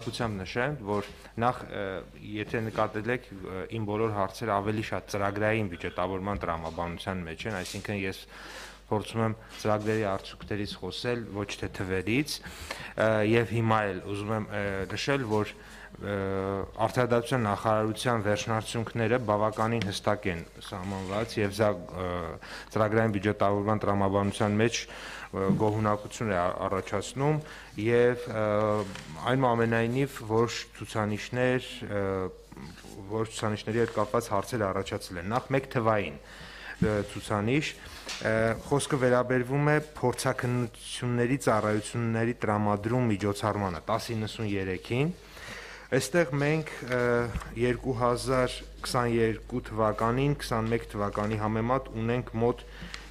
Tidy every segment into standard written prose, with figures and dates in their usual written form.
խորհրդությամբ նշեմ, որ նախ եթե նկատել եք իմ բոլոր հարցերը ավելի շատ ծրագրային բյուջետավորման տրամաբանության մեջ են, այսինքն ես փորձում եմ ծրագրերի արդյունքներից խոսել, ոչ թե թվերից, եւ հիմա էլ ուզում եմ նշել, որ Արդարադատության նախարարության վերջնարդյունքները բավականին հստակ են սահմանված եւ սա ծրագրային բյուջետավորման տրամաբանության մեջ գոհունակություն է առաջացնում եւ այնուամենայնիվ որոշ ցուցանիշների հետ կապված հարցեր առաջացել են։ Նախ մեկ թվային ցուցանիշ խոսքը վերաբերվում է փորձաքննությունների ծառայությունների տրամադրում միջոցառմանը 1093-ին Այստեղ մենք 2022 թվականին 21 թվականի համեմատ ունենք մոտ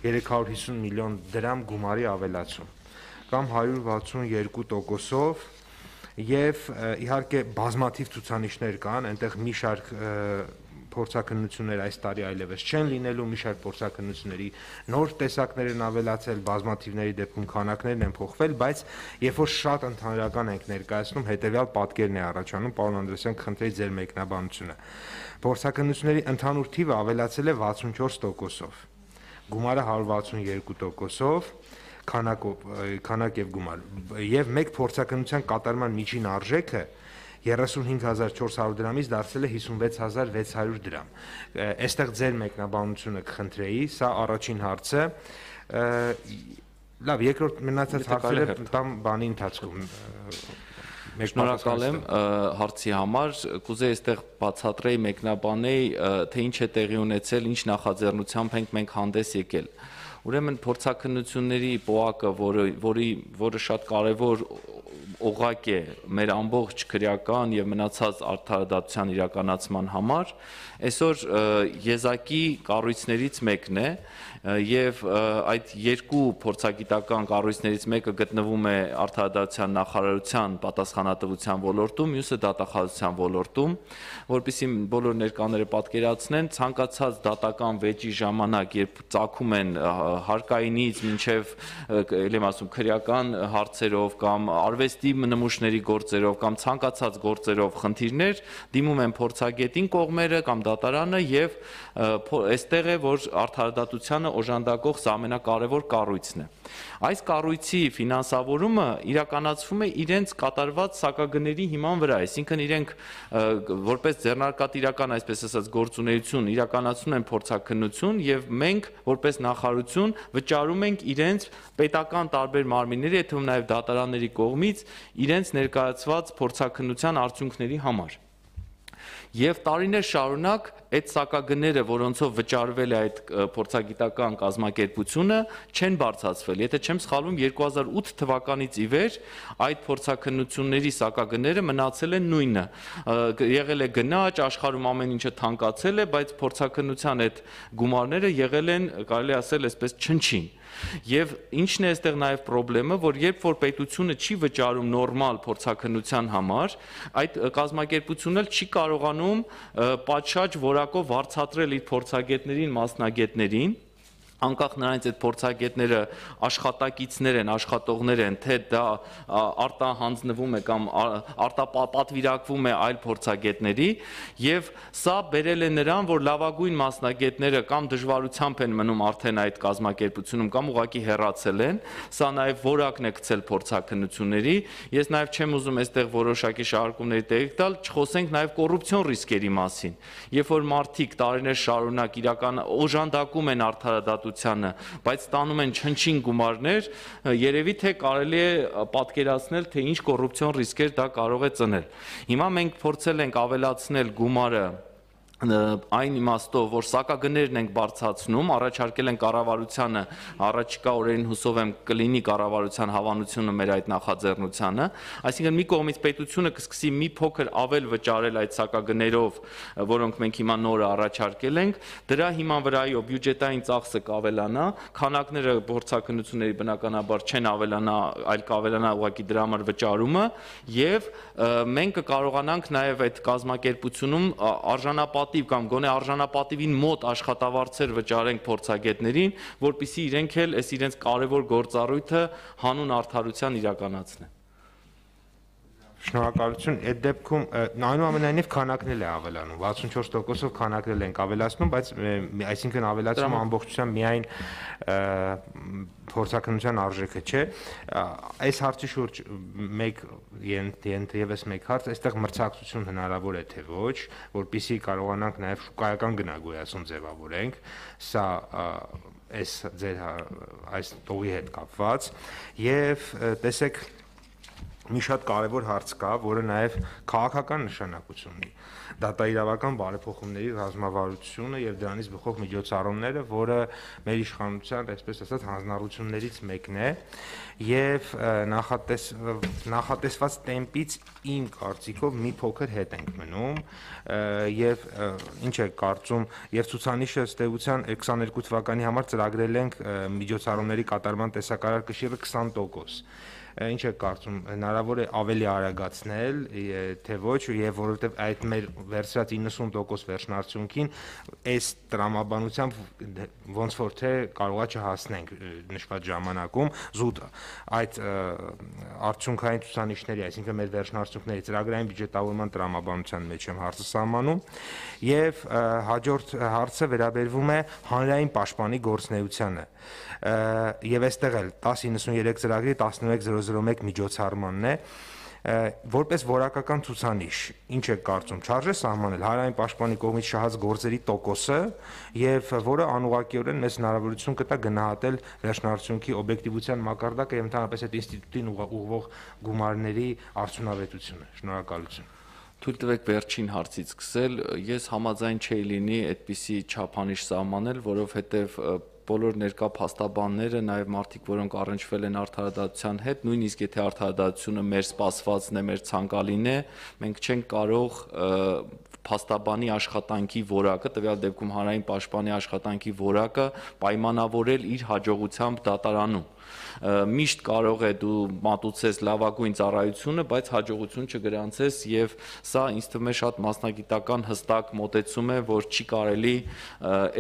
350 միլիոն դրամ գումարի ավելացում կամ 162%-ով եւ իհարկե բազմաթիվ ցուցանիշներ կան, այնտեղ մի շարք փորձաքննություններ այս տարի այլևս չեն լինելու, մի շարք փորձաքննությունների նոր տեսակներ են ավելացել, բազմաթիվների դեպքում քանակներն են փոխվել, բայց երբ որ շատ ընդհանրական ենք ներկայացնում, հետեւյալ պատկերն է առաջանում, պարոն Անդրեասյան, կխնդրեի ձեր մեկնաբանությունը։ Փորձաքննությունների ընդհանուր թիվը ավելացել է 64%-ով, գումարը 162%-ով, քանակ եւ գումար, եւ մեկ փորձաքննության կատարման միջին արժեքը 35400 դրամից դարձել է 56600 դրամ։ Այստեղ ձեր մեկնաբանությունը կխնդրեի, սա առաջին հարցը։ Լավ, երկրորդ մնացած հարցերը տամ բանի ընթացքում։ Շնորհակալ եմ հարցի համար, կուզեի այստեղ բացատրեի, մեկնաբանեի, թե ինչ է տեղի ունեցել, ինչ նախաձեռնությամբ ենք մենք հանդես եկել։ Ուրեմն փորձաքննությունների պոակը, որը շատ կարևոր օղակ է մեր ամբողջ քրեական եւ մնացած արդարադատության իրականացման համար, այսօր եզակի կառույցներից մեկն է եւ այդ երկու փորձագիտական կառույցներից մեկը գտնվում է արդարադատության նախարարության պատասխանատվության ոլորտում, մյուսը դատախազության ոլորտում, որպեսզի բոլոր ներկաները պատկերացնեն, ցանկացած դատական վեճի ժամանակ, երբ ծագում են հարկայինից մինչև ելեմ ասում քրեական հարցերով կամ արվեստի նմուշների գործերով կամ ցանկացած գործերով խնդիրներ դիմում են փորձագետին կողմերը կամ դատարանը եւ այստեղ է որ արդարադատությանը օժանդակող սա ամենակարևոր կառույցն է։ Այս կառույցի ֆինանսավորումը իրականացվում է իրենց կատարված սակագների հիման վրա, այսինքն իրենք որպես ձեռնարկատիրական, այսպես ասած, գործունեություն իրականացնում են փորձաքննություն եւ մենք որպես նախարարություն վճարում ենք իրենց պետական տարբեր մարմինների, եթե նաեւ դատարանների կողմից իրենց ներկայացված փորձաքննության արդյունքների համար։ Եվ տարիներ շարունակ այդ սակագները, որոնցով վճարվել է այդ փորձագիտական կազմակերպությունը, չեն բարձրացվել։ Եթե չեմ սխալվում, 2008 թվականից ի վեր այդ փորձաքննությունների սակագները մնացել են նույնը։ Եղել է գնաճ, աշխարհում ամեն ինչը թանկացել է, բայց փորձաքննության այդ գումարները եղել են, կարելի ասել, այսպես չնչին։ Եվ ինչն է այստեղ նաև խնդրեմը, որ երբ որ պետությունը չի վճարում նորմալ փորձաքննության համար, այդ կազմակերպությունն էլ չի կարողանում պատշաճ որակով վարձատրել իր փորձագետներին, մասնագետներին, անկախ նրանից այդ փորձագետները աշխատակիցներ են, աշխատողներ են, թե դա արտահանձնվում է կամ արտապատվիրակվում է այլ փորձագետների, եւ սա բերել է նրան, որ լավագույն մասնագետները կամ դժվարությամբ են մնում արդեն այդ կազմակերպությունում կամ ուղղակի հեռացել են, սա նաեւ որակն է գցել փորձաքննությունների, ես նաեւ չեմ ուզում այստեղ որոշակի շահարկումների տեղիք տալ, չխոսենք նաեւ կոռուպցիոն ռիսկերի մասին, երբ որ մարդիկ տարիներ շարունակ իրական օժանդակում են արդարադատությանը, բայց ստանում են չնչին գումարներ, երևի թե կարելի է պատկերացնել, թե ինչ կոռուպցիոն ռիսկեր դա կարող է ծնել։ Հիմա մենք փորձել ենք ավելացնել գումարը այն իմաստով, որ սակագներն ենք բարձրացնում, առաջարկել են կառավարությանը, առաջիկա օրերին հուսով եմ կլինի կառավարության հավանությունը մեր այդ նախաձեռնությանը, այսինքն մի կողմից պետությունը կսկսի մի փոքր ավել վճարել այդ սակագներով, որոնք մենք հիմա նորը առաջարկել ենք, դրա հիման վրայով բյուջետային ծախսը կավելանա, քանակները փորձաքննությունների բնականաբար չեն ավելանա, այլ կավելանա ուղղակի դրա համար վճարումը, եւ մենք կկարողանանք նաեւ այդ կազմակերպությունում արժանապատիվ կամ գոնե արժանապատիվին մոտ աշխատավարձեր վճարենք փորձագետներին, որպեսզի իրենք էլ այս իրենց կարևոր գործառույթը հանուն արդարության իրականացնեն։ Շնորհակալություն։ Այդ դեպքում այնուամենայնիվ քանակն էլ է ավելանում, 64%-ով քանակն ենք ավելացնում, բայց այսինքն ավելացումը ամբողջությամբ միայն փորձաքննության արժեքը չէ։ Այս հարցի շուրջ եւս մեկ հարց, այստեղ մրցակցություն հնարավոր է թե ոչ, որպեսզի կարողանանք նաեւ շուկայական գնագոյացում ձևավորենք, սա այս տողի հետ կապված, եւ տեսեք մի շատ կարևոր հարց կա, որը նաև քաղաքական նշանակություն ունի։ Դատաիրավական բարեփոխումների ռազմավարությունը եւ դրանից բխող միջոցառումները, որը մեր իշխանության, այսպես ասած, հանձնառություններից մեկն է, եւ նախատեսված տեմպից իմ կարծիքով մի փոքր հետ ենք մնում, եւ ինչ է կարծում, եւ ցուցանիշը ըստ էության 22 թվականի համար ծրագրել ենք միջոցառումների կատարման տեսակարար կշիռը 20%։ Ինչ է կարծում, հնարավոր է ավելի արագացնել, թե ոչ, եւ որովհետեւ այդ մեր վերցրած 90% վերջնարդյունքին այս տրամաբանությամբ ոնց որ թե կարողա չհասնենք նշված ժամանակում զուտ այդ արդյունքային ցուցանիշների, այսինքն մեր վերջնարդյունքների ծրագրային բյուջետավորման տրամաբանության մեջ եմ հարցը սահմանում, եւ հաջորդ հարցը վերաբերվում է հանրային պաշտպանի գործունեությանը, եւ այստեղ էլ 1093 ծրագրի 11001 միջոցառմանն է, որպես որակական ցուցանիշ, ինչ է կարծում, չարժե սահմանել հանրային պաշտպանի կողմից շահած գործերի տոկոսը եւ որը անուղղակիորեն մեզ հնարավորություն կտա գնահատել վերջնարդյունքի օբյեկտիվության մակարդակը եւ ընդհանրապես այդ ինստիտուտին ուղղվող գումարների արդյունավետությունը։ Շնորհակալություն։ Թույլ տվեք վերջին հարցից սկսել, ես համաձայն չէի լինի այդպիսի չափանիշ սահմանել, որովհետեւ բոլոր ներկա փաստաբանները, նաև մարդիկ, որոնք առնչվել են արդարադատության հետ, նույնիսկ եթե արդարադատությունը մեր սպասվածն է, մեր ցանկալին է, մենք չենք կարող փաստաբանի աշխատանքի որակը, տվյալ դեպքում հանրային պաշտպանի աշխատանքի որակը պայմանավորել իր հաջողությամբ դատարանում։ Միշտ կարող է դու մատուցես լավագույն ծառայությունը, բայց հաջողություն չգրանցես, եւ սա ինձ թվում է շատ մասնագիտական հստակ մոտեցում է, որ չի կարելի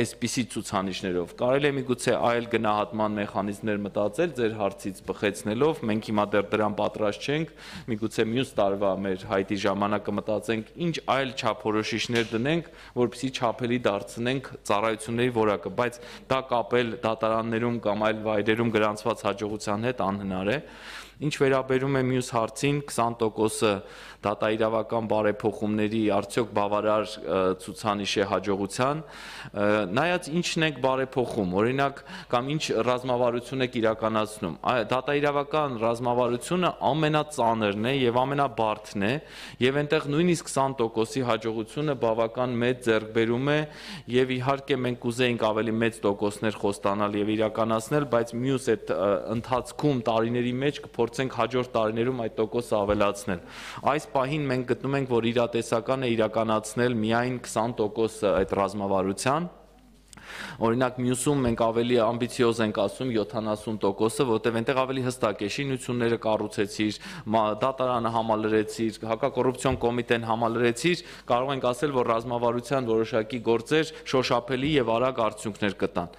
այսպիսի ցուցանիշներով։ Կարելի է միգուցե այլ գնահատման մեխանիզմներ մտածել, ձեր հարցից բխեցնելով, մենք հիմա դեռ դրան պատրաստ չենք, միգուցե մյուս տարվա մեր հայտի ժամանակը մտածենք, ինչ այլ չափորոշիչներ դնենք, որպեսզի չափելի դարձնենք ծառայությունների որակը, բայց դա կապել դատարաններում կամ այլ վայրերում գրանցված հաջողության հետ անհնար է։ Ինչ վերաբերում է մյուս հարցին, 20%-ը դատաիրավական բարեփոխումների արդյոք բավարար ցուցանիշ է հաջողության, նայած ինչն եք բարեփոխում, օրինակ, կամ ինչ ռազմավարություն եք իրականացնում։ Դատաիրավական ռազմավարությունը ամենածանրն է եւ ամենաբարդն է, եւ այնտեղ նույնիսկ 20%-ի հաջողությունը բավական մեծ ձեռքբերում է, եւ իհարկե մենք կուզեինք ավելի մեծ տոկոսներ խոստանալ եւ իրականացնել, բայց մյուս այդ ընթացքում տարիների մեջ կփորձենք հաջորդ տարիներում այդ տոկոսը ավելացնել։ Այս պահին մենք գտնում ենք, որ իրատեսական է իրականացնել միայն 20% այդ ռազմավարության։ Օրինակ մյուսում մենք ավելի ամբիցիոզ ենք ասում 70%-ը, որտեղ այնտեղ ավելի հստակ է, շինությունները կառուցեցիր, դատարանը համալրեցիր, հակակոռուպցիոն կոմիտեն համալրեցիր, կարող ենք ասել, որ ռազմավարության որոշակի գործեր շոշափելի եւ արագ արդյունքներ կտան։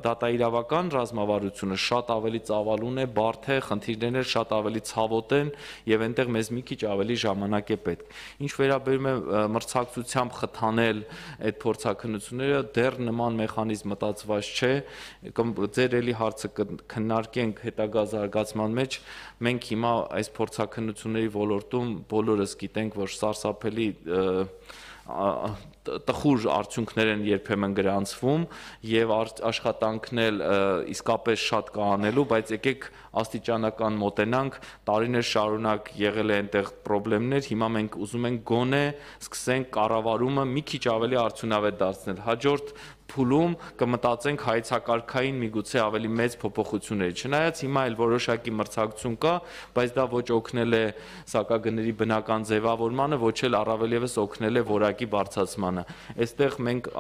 Դատաիրավական ռազմավարությունը շատ ավելի ծավալուն է, բարդ է, խնդիրներն շատ ավելի ցավոտ են եւ այնտեղ մեզ մի քիչ ավելի ժամանակ է պետք։ Ինչ վերաբերում է մրցակցությամբ խթանել այդ փորձաքննությունները, դեռ նման մեխանիզմ մտածված չէ, ձեր էլի հարցը քննարկենք հետագա զարգացման մեջ, մենք հիմա այս փորձաքննությունների ոլորտում բոլորս գիտենք, որ սարսափելի տխուր արդյունքներ են երբեմն գրանցվում եւ աշխատանքն էլ իսկապես շատ կա անելու, բայց եկեք աստիճանական մոտենանք, տարիներ շարունակ եղել է այնտեղ խնդիրներ, հիմա մենք ուզում ենք գոնե սկսենք կառավարումը մի քիչ ավելի արդյունավետ դարձնել։ Հաջորդ փուլում կմտածենք հայեցակարգային միգուցե ավելի մեծ փոփոխությունների։ Չնայած հիմա էլ որոշակի մրցակցություն կա, բայց դա ոչ օգնել է սակագների բնական ձևավորմանը, ոչ էլ առավել եւս օգնել է որակի բարձրացմանը։ Այստեղ մենք